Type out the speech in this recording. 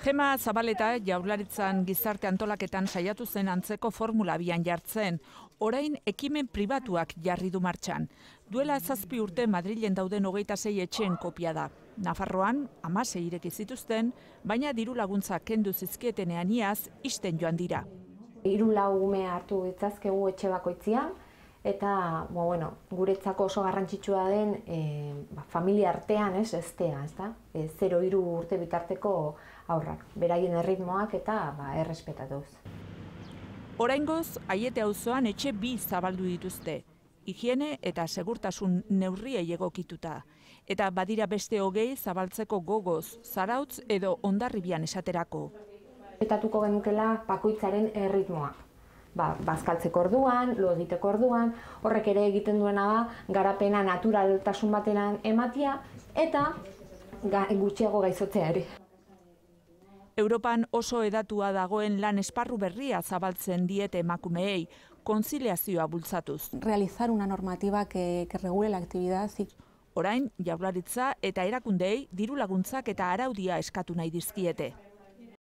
Gema Zabaleta Jaurlaritzan gizarte antolaketan saiatu zen antzeko formula abian jartzen. Orain ekimen pribatuak jarri du martxan. Duela 7 urte Madrilen dauden 26 etxeen kopia da. Nafarroan 16 ireki zituzten, baina diru laguntzak kendu zizkietenean iaz ixten joan dira. 3-4 ume hartu ditzazkegu etxe bakoitzian, eta guretzako oso garrantzitsua den familia artean eztea, 0-3 urte bitarteko aurrak, beraien erritmoak eta errespetatuz. Oraingoz, Aiete auzoan etxe 2 zabaldu dituzte, higiene eta segurtasun neurriei egokituta. Eta badira beste 20 zabaltzeko gogoz, Zarautz edo Hondarribian esaterako. Betatuko genukela bakoitzaren erritmoa. Bazkaltzeko orduan, lo egiteko orduan, horrek ere egiten duena da garapena naturaltasun batean ematia eta gutxiago gaizotzea ere. Europan oso hedatua dagoen lan esparru berria zabaltzen diete emakumeei, konziliazioa bultzatuz. Realizar una normativa que regule la actividad. Orain, Jaurlaritza eta erakundeei diru laguntzak eta araudia eskatu nahi dizkiete.